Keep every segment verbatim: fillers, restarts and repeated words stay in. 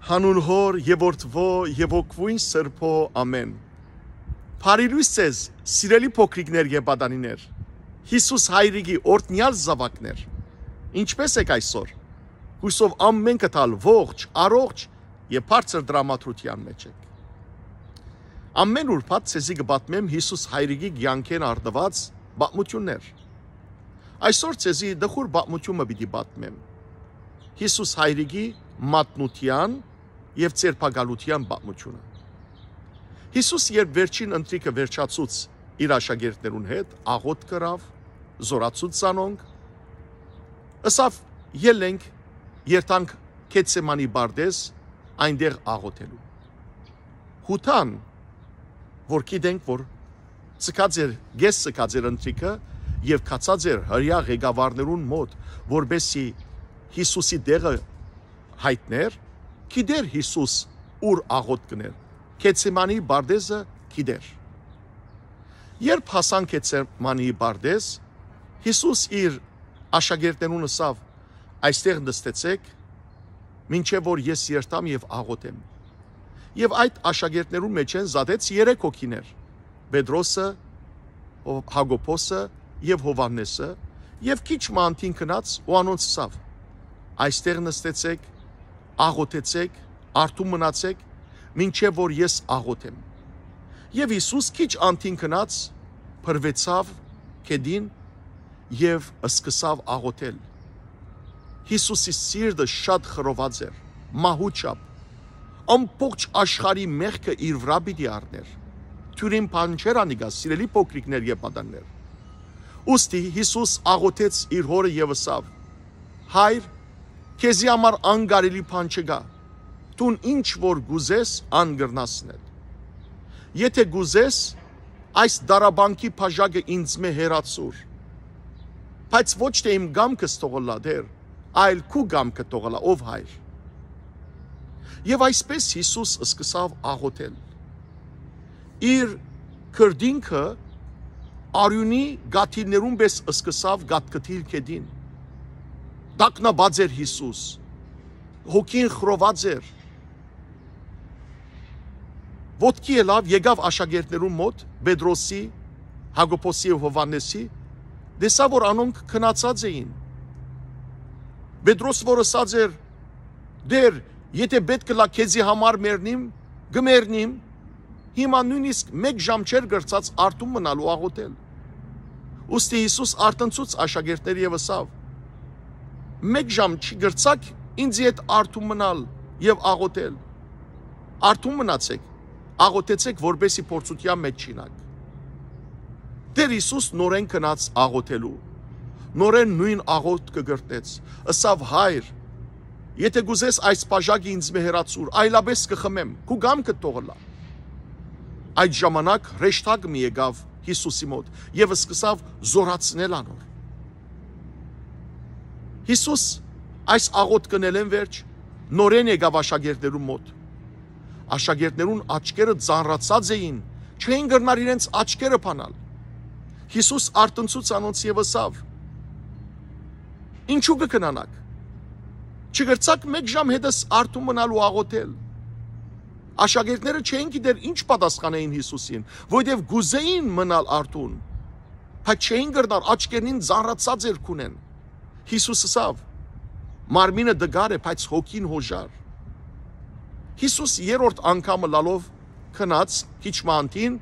Հանուն Հօր եւ Որդւոյ եւ Հոգւոյն Սրբոյ, ամէն։ Բարի լոյս ձեզ, սիրելի փոքրիկներ եւ պատանիներ, Յիսուս Հայրիկի օրհնեալ զաւակներ։ Ինչպէ՞ս էք այսօր։ Յուսով ամէնքդ ալ ողջ, առողջ եւ բարձր տրամադրութեան մէջ էք։ Ամէն ուրբաթ ձեզի կը պատմեմ Յիսուս Հայրիկի կեանքէն առնուած պատմութիւններ։ Այսօր ձեզի տխուր պատմութիւն մը պիտի պատմեմ։ Յիսուս Հայրիկի մատնութեան եւ ձերբակալութեան պատմութիւնը։ Յիսուս, երբ վերջին ընթրիքը վերջացուց իր աշակերտներուն հետ, աղօթք ըրաւ, զօրացուց զանոնք, ըսաւ. «Ելլենք, երթանք Գեթսեմանի պարտէզ, այնտեղ աղօթելու»։ Յուդան, որ գիտենք, որ ձգած էր, կէս ձգած էր ընթրիքը եւ գացած էր հրեայ ղեկավարներուն մօտ, որպէսզի Յիսուսի տեղը յայտնէր, գիտէր Յիսուս ուր աղօթք կ'ընէր, Գեթսեմանի պարտէզը գիտէր։ Երբ հասան Գեթսեմանի պարտէզ, Յիսուս իր աշակերտներուն ըսաւ. «Այստեղ նստեցէք, մինչեւ որ ես երթամ եւ աղօթեմ»։ Եւ այդ աշակերտներուն մէջէն զատեց երեք հոգիներ. Պետրոսը, Հո-, Յակոբոսը եւ Յովհաննէսը, եւ քիչ մը անդին գնաց ու անոնց ըսաւ. «Այստեղ նստեցէք, աղօթեցէք, արթուն մնացէք, մինչեւ որ ես աղօթեմ»։ Եւ Յիսուս քիչ անդին գնաց, փռուեցաւ գետին եւ սկսաւ աղօթել։ Յիսուսի սիրտը շատ խռոված էր, մահու չափ։ Ամբողջ աշխարհի մեղքը իր վրայ պիտի առնէր։ Դիւրին բան չէր անիկա, սիրելի փոքրիկներ եւ պատաններ։ Ուստի Յիսուս աղօթեց իր Հօրը եւ ըսաւ. «Հայր, քեզի համար անկարելի բան չկայ։ Դուն ինչ որ կ'ուզես, ան կրնաս ընել։ Եթէ կ'ուզես, այս տառապանքի բաժակը ինծմէ հեռացուր, բայց ոչ թէ իմ կամքս թող ըլլայ, Տէր, այլ քու կամքը թող ըլլայ, ով Հայր»։ Եւ այսպէս Յիսուս սկսաւ աղօթել։ Իր քրտինքը արիւնի կաթիլներուն պէս սկսաւ կաթկթիլ գետին։ Տագնապած էր Յիսուս, հոգին խռոված էր։ Ոտքի ելաւ, եկաւ աշակերտներուն մօտ, Պետրոսի, Յակոբոսի եւ Յովհաննէսի, տեսաւ որ անոնք քնացած էին։ Պետրոս որ ըսած էր. «Տէր, եթէ պէտք ըլլայ քեզի համար մեռնիմ, կը մեռնիմ»։ Հիմա նոյնիսկ մէկ ժամ չէր կրցած արթուն մնալ ու աղօթել։ Ուստի Յիսուս արթնցուց աշակերտները եւ ըսաւ. «Մէկ ժամ չի կրցաք ինձի հետ արթուն մնալ եւ աղօթել։ Արթուն մնացէք, աղօթեցէք, որպէսզի փորձութեան մէջ չիյնաք»։ Տէր Յիսուս նորէն գնաց աղօթելու, նորէն նոյն աղօթքը կրթեց, ըսաւ. «Հայր, եթէ կ'ուզես, այս բաժակը ինծմէ հեռացուր, այլապէս կը խմեմ, քու կամքդ թող ըլլայ»։ Այդ ժամանակ հրեշտակ մը եկաւ Յիսուսի մօտ եւ սկսաւ զօրացնել անոր։ Յիսուս այս աղօթքն ելեն վերջ նորէն եկաւ աշակերտներուն մօտ։ Աշակերտներուն աչքերը ծանրացած էին, չէին կրնար իրենց աչքերը փանալ։ Յիսուս արթնցուց անոնց եւ ըսաւ. «Ինչու կը քնանաք։ Չկրցաք մէկ ժամ հետս արթուն մնալ ու աղօթել»։ Աշակերտները չէին գիտեր ինչ պատասխանէին Յիսուսին, որովհետեւ կ'ուզէին մնալ արթուն, բայց չէին կրնար, աչքերնին ծանրացած էր քունեն։ Յիսուս ըսաւ. «Մարմինը տկար է, բայց հոգին յօժար»։ Յիսուս երրորդ անգամը լալով գնաց քիչ մը անդին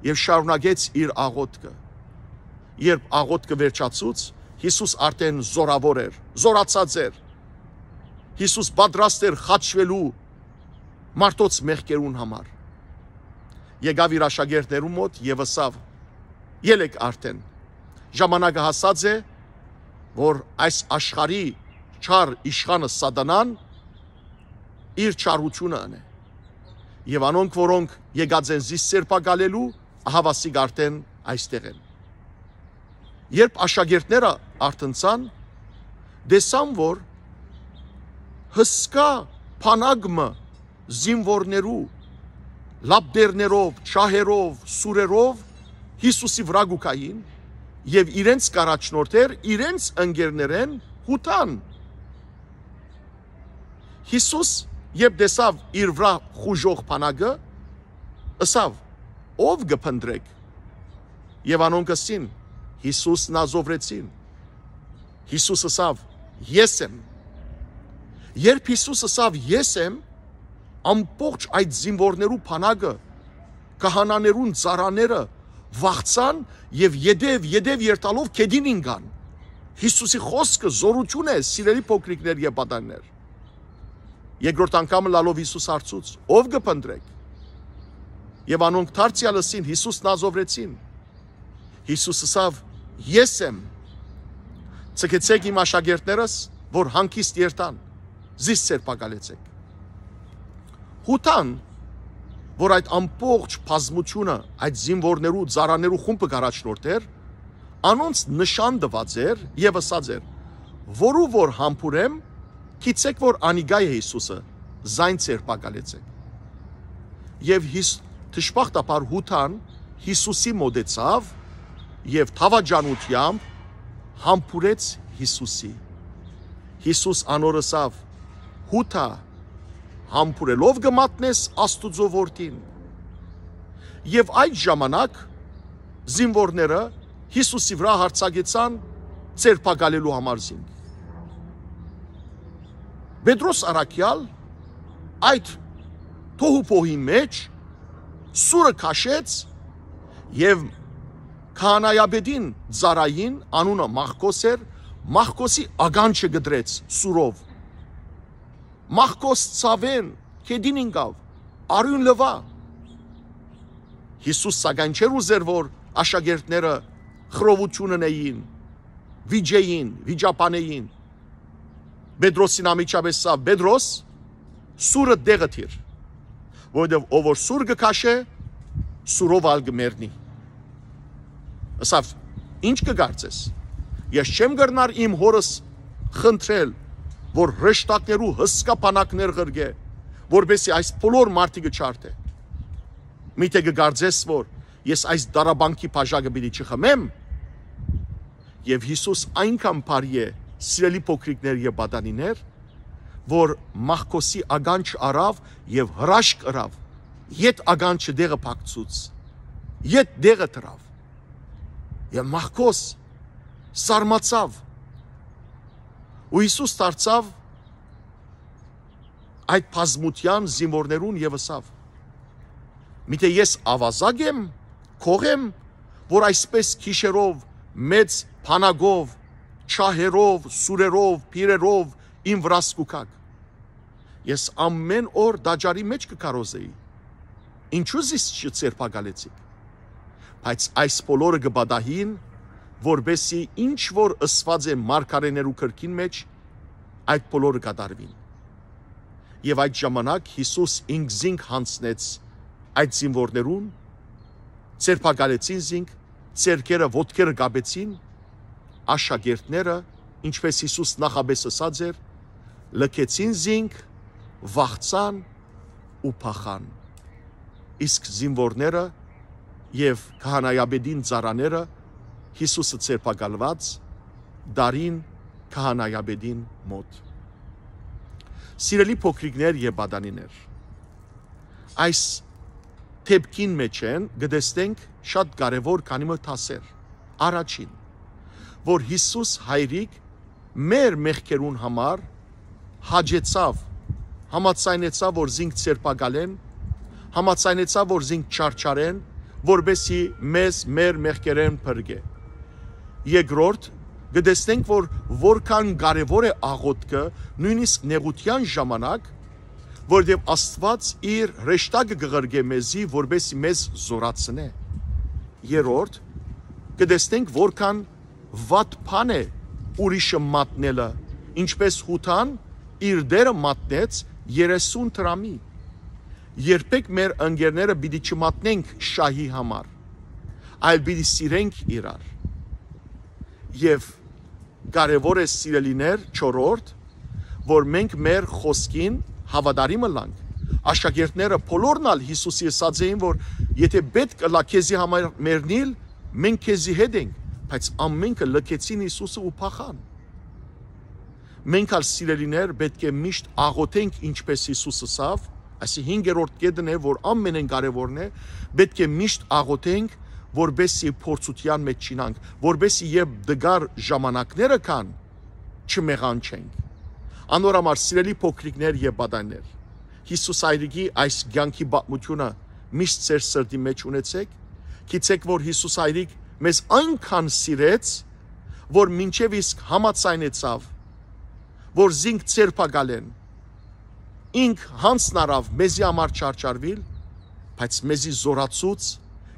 եւ շարունակեց իր աղօթքը։ Երբ աղօթքը վերջացուց, Յիսուս արդեն զորաւոր էր, զորացած էր։ Յիսուս պատրաստ էր խաչվելու մարդոց մեղքերուն համար։ Եկաւ իր աշակերտներուն մօտ եւ ըսաւ. «Ելեք արդեն։ Ժամանակը հասած է, որ այս աշխարհի չար իշխանը Սատանան իր չարութիւնը ընէ։ Եւ անոնք, որոնք եկած են զիս ձերբակալելու, ահաւասիկ արդեն այստեղ են»։ Երբ աշակերտները արթնցան, տեսան, որ հսկայ բանակ մը զինուորներու, լապտերներով, ջահերով, սուրերով Յիսուսի վրայ կու գային եւ իրենց կ'առաջնորդէր իրենց ընկերներէն Յուդան։ Յիսուս երբ տեսաւ իր վրայ խուժող բանակը, ըսաւ. «Ո՞վ կը փնտռէք»։ Եւ անոնք ըսին. «Յիսուս Նազովրեցին»։ Յիսուս ըսաւ. «Ես եմ»։ Երբ Յիսուս ըսաւ. «Ես եմ», ամբողջ այդ զինուորներու բանակը, քահանաներուն ծառաները վախցան եւ ետեւ, ետեւ երթալով գետին ինկան։ Յիսուսի խօսքը զօրութիւն է, սիրելի փոքրիկներ եւ պատանիներ։ Երկրորդ անգամ ըլլալով Յիսուս հարցուց. «Ո՞վ կը փնտռէք»։ Եւ անոնք դարձեալ ըսին. «Յիսուս Նազովրեցին»։ Յիսուս ըսաւ. «Ես եմ։ Ձգեցէք իմ աշակերտներս, որ հանգիստ երթան, զիս ձերբակալեցէք»։ Յուդան, որ այդ ամբողջ բազմութիւնը, այդ զինուորներու, ծառաներու խումբը կ'առաջնորդէր, անոնց նշան տուած էր եւ ըսած էր. «Որու որ համբուրեմ, գիտցէք որ անիկա է Յիսուսը, զայն ձերբակալեցէք»։ Եւ Յիս-, դժբախտաբար Յուդան Յիսուսի մօտեցաւ եւ դաւաճանութեամբ համբուրեց Յիսուսի։ Յիսուս անոր ըսաւ. «Յուդա, համբուրելով կը մատնես Աստուծոյ որդին»։ Եւ այդ ժամանակ զինուորները Յիսուսի վրայ յարձակեցան ձերբակալելու համար զինք։ Պետրոս առաքեալ այդ թոհուբոհի մէջ սուրը քաշեց եւ քահանայապետին ծառային, անունը Մախքոս էր, Մախքոսի ականջը կտրեց սուրով։ Մախքոս ցաւէն գետին ինկաւ, արիւն լուայ։ Յիսուս սակայն չէր ուզեր, որ աշակերտները խռովութիւն ընէին, վիճէին, վիճաբանէին։ Պետրոսին անմիջապէս ըսաւ. «Պետրոս, սուրը տեղը դիր, որովհետեւ ով որ սուր կը քաշէ, սուրով ալ կը մեռնի»։ Ըսաւ. «Ի՞նչ կը կարծես, ես չեմ կրնար իմ հօրս խնդրել, որ հրեշտակներու հսկայ բանակներ ղրկէ, որպեսզի այս բոլոր մարդիկը չարդէ։ Միթէ կը կարծես, որ ես այս դարաբանքի բաժակը պիտի չխմեմ»։ Եւ Յիսուս այնքան բարի է, սիրելի փոքրիկներ եւ պատանիներ, որ Մախքոսի ականջ առաւ եւ հրաշք ըրաւ, յետ ականջը տեղը փակցուց, յետ տեղը դրաւ։ Եւ Մախքոս սարմացաւ, ու Յիսուս դարձաւ այդ բազմութեան զինուորներուն եւ ըսաւ. «Միթէ ես աւազակ եմ, գող եմ, որ այսպէս գիշերով մեծ բանակով, ջահերով, սուրերով, բիրերով իմ վրաս կու գաք։ Ես ամէն օր տաճարի մէջ կը քարոզէի։ Ինչո՞ւ զիս չձերբակալեցիք»։ Բայց այս բոլորը կը պատահին, որպեսզի ինչ որ ըսուած է մարգարէներու գրքին մէջ, այդ բոլորը կատարուին։ Եւ այդ ժամանակ Յիսուս ինքզինք յանձնեց այդ զինուորներուն, ձերբակալեցին զինք, ձեռքերը, ոտքերը կապեցին, աշակերտները, ինչպես Յիսուս նախապէս ըսած էր, լքեցին զինք, վախցան ու փախան։ Իսկ զինուորները եւ քահանայապետին ծառաները Յիսուսը ձերբակալուած դարին քահանայապետին մօտ։ Սիրելի փոքրիկներ եւ պատանիներ, այս դեպքին մէջ են կը տեսնենք շատ կարեւոր քանի մը դասեր։ Առաջին, որ Յիսուս հայրիկ մեր մեղքերուն համար հաճեցաւ, համաձայնեցաւ, որ զինք ձերբակալեն, համաձայնեցաւ, որ զինք չարչարեն, որպեսզի մեզ մեր մեղքերէն փրկէ։ Երկրորդ, կը տեսնենք, որ որքան կարեւոր է աղօթքը, նոյնիսկ նեղութեան ժամանակ, որովհետեւ Աստուած իր հրեշտակը կը ղրկէ մեզի, որպեսզի մեզ զօրացնէ։ Երրորդ, կը տեսնենք, որքան վատ բան է ուրիշը մատնելը, ինչպես Յուդան իր դերը մատնեց երեսուն դրամի։ Երբեք մեր ընկերները պիտի չմատնենք շահի համար, այլ պիտի սիրենք իրար։ Եւ կարեւոր է, սիրելիներ, չորրորդ, որ մենք մեր խօսքին հաւատարիմ ըլլանք։ Աշակերտները բոլորն ալ Յիսուսի ըսած էին, որ եթէ պէտք ըլլայ քեզի համար մեռնիլ, մենք քեզի հետ ենք, բայց ամենքը լքեցին Յիսուսը ու փախան։ Մենք ալ, սիրելիներ, պէտք է միշտ աղօթենք, ինչպէս Յիսուս ըսաւ, այսինքն հինգերորդ կետն է, որ ամենէն կարեւորն է, պէտք է միշտ աղօթենք, որպեսզի փորձութեան մէջ չիյնանք, որպեսզի երբ դժուար ժամանակները կան, չմեղանչենք։ Անոր համար, սիրելի փոքրիկներ եւ պատանիներ, Յիսուս Հայրիկի այս կեանքի պատմութիւնը միշտ ձեր սրտի մէջ ունեցէք, գիտցէք, որ Յիսուս Հայրիկ մեզ այնքան սիրեց, որ մինչեւ իսկ համաձայնեցաւ, որ զինք ձերբակալեն, ինք յանձն առաւ մեզի համար չարչարուիլ, բայց մեզի զօրացուց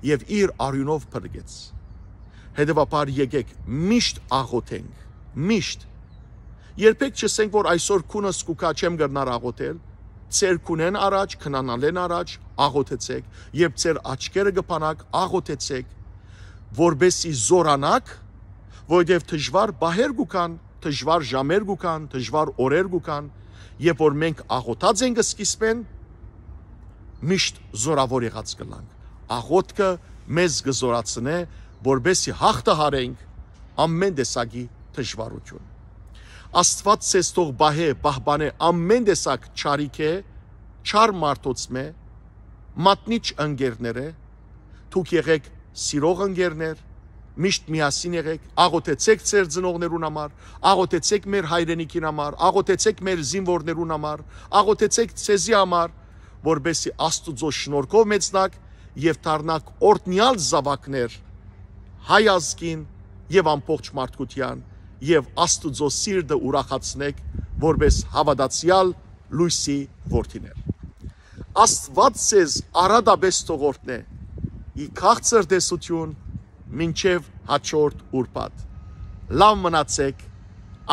եւ իր արիւնով փրկեց։ Հետեւաբար, եկէք միշտ աղօթենք, միշտ։ Երբեք չըսենք, որ այսօր քունս կու գայ, չեմ կրնար աղօթել։ Ձեր քունէն առաջ, քնանալէն առաջ աղօթեցէք, երբ ձեր աչքերը կը բանաք, աղօթեցէք, որպեսզի զօրանաք, որովհետեւ դժուար պահեր կու գան, դժուար ժամեր կու գան, դժուար օրեր կու գան, երբ որ մենք աղօթած ենք սկիզբէն, միշտ զօրաւոր եղած կ'ըլլանք։ Աղօթքը մեզ կը զօրացնէ, որպեսզի յաղթահարենք ամէն տեսակի դժուարութիւն։ Աստուած ձեզ թող պահէ, պահպանէ ամէն տեսակ չարիքէ, չար մարդոց մէ, մատնիչ ընկերներէ, դուք եղէք սիրող ընկերներ, միշտ միասին եղէք, աղօթեցէք ձեր ծնողներուն համար, աղօթեցէք մեր հայրենիքին համար, աղօթեցէք մեր զինուորներուն համար, աղօթեցէք ձեզի համար, որպեսզի Աստուծոյ շնորհքով մեծնաք եւ դառնաք օրհնեալ զաւակներ հայ ազգին եւ ամբողջ մարդկութեան, եւ Աստուծոյ սիրտը ուրախացնէք որպէս հաւատացեալ լոյսի որդիներ։ Աստուած ձեզ առատապէս թող օրհնէ, ի քաղցր տեսութիւն մինչեւ հաջորդ ուրբաթ։ Լաւ մնացէք,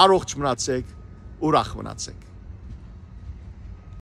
առողջ մնացէք, ուրախ մնացէք։